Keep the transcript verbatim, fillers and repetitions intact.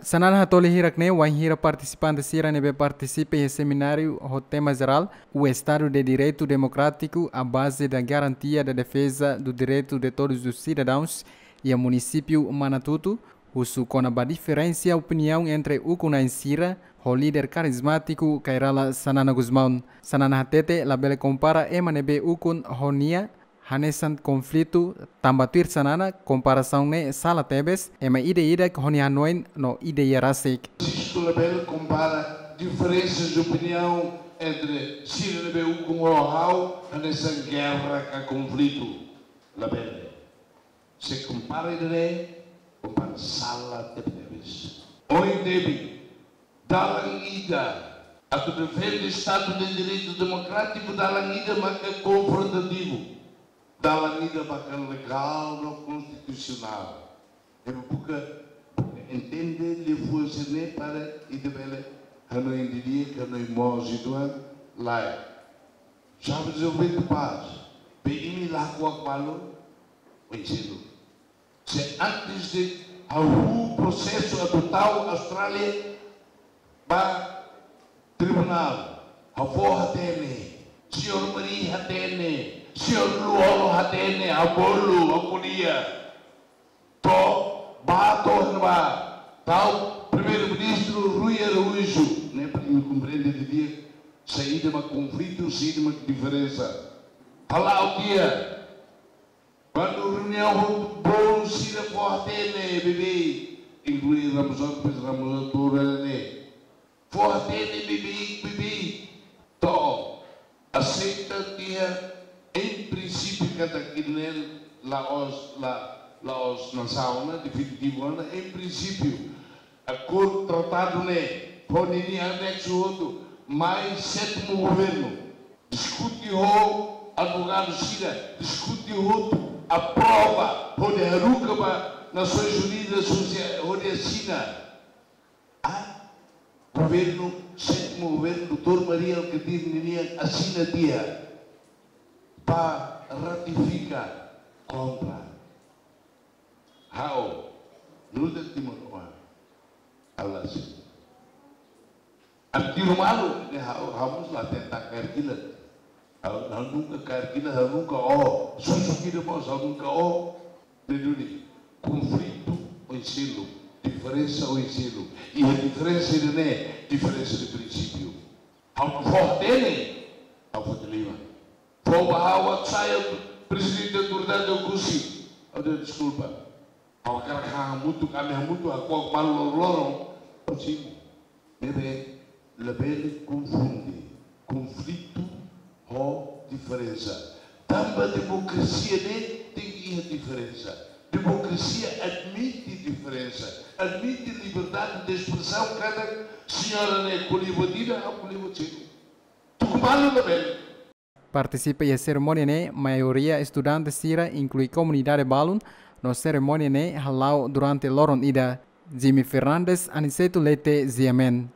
Xanana hatoli hirak-ne'e wainhira partisipante sira ne'ebé partisipa iha semináriu ho tema jerál: O Estado de Direito Democrático, a base da garantia da defesa do direito de todos os cidadãos, iha munisípiu Manatuto, husu kona-ba diferensa opiniaun entre ukun-na'in sira ho líder karizmátiku Kay Rala Xanana Gusmão. Xanana hatete labele kompara ema ne'ebé ukun ho nia hanesan konflitu, tanba tuir Xanana komparasaun ne'e sala tebes, ema ida-idak ho nia hanoin no ideia rasik. Francisco, labele kompara diferensa de opiniaun entre sira ne'ebé ukun ho ha'u hanesan gerra ka konflitu. Labele. Se kompara ida-ne'e, kompara sala tebetebes. Ohin tebes, dalan ida atu defende Estado de Direito Democrático, dalan ida maka konfrontativu, dalan ida maka legál no konstitusionál. Ema buka, buka entende liafuan sira-ne'e para ita bele hanoin didi'ak, hanoin moos uitoan, lae. Jovens, ouvinte paz, be imi la hako'ak malu, ohin seluk. Se antes de hahú prosesu atu tau Austrália ba tribunál, ha'u fó hatene, señór Mari hatene, señór Lú-Olo hatene, ha'u bolu, ha'u ko'alia. To'o, bá to'o iha ne'ebá, tau Primeiru-Ministru Rui Araújo, ne'e para imi komprende didi'ak saida mak konflitu, saida mak diferensa. Hala'o tiha, kuandu reuniaun ho bolu sira fó hatene beibeik, inklui Ramos Horta, pois Ramos Horta ora ne'e. Fó hatene beibeik, beibeik. To'o, aseita tiha, em princípio, katak ida-ne'e la'ós, la, la'ós nasaun ona, definitivu ona, em princípio, akordu, tratadu ne'e, ho ninia aneksu hotu, mai sétimu governu. Diskute ho advogadu sira, diskute hotu, aprova, hodi haruka ba Nasoins Unidas, hodi, hodi asina. Ah, governu, sétimu governu, doutór Mari Alkatiri ninian asina tiha para ratifika kontra. Ha'u, nu'udar timoroan, halo asina. Ami tiru malu, ne'e ha'u, ha'u mós la tenta kaer kilat. Ha'u, ha'u nunka kaer kilat, ha'u nunka oho. Susuk ida mós, ha'u nunka oho. Ne'e duni, konflitu oin seluk, diferensa oin seluk. Iha diferensa ida-ne'e, diferensa de prinsípiu. Ha'u fó hatene, ha'u foti liman. Fó ba ha'u atu sai prezidente autoridade Oekusi. Ha'u dehan deskulpa. Ha'u hakarak hamutuk, ami hamutuk, hako'ak malu loron-loron. Ha'u simu. Ne'ebé, labele konfunde konflitu ho diferensa. Tanba demokrasia ne'e tenke iha diferensa. Demokrasia admite diferensa, admite liberdade de espresaun, katak señora ne'e ko'alia buat ida, ha'u ko'alia buat seluk. Tuku malu labele. Partisipa iha serimónia ne'e maioria estudante sira, inklui komunidade balun, no serimónia ne'e hala'o durante loron ida. Jimmy Fernandes, Aniceto Leite, G M N.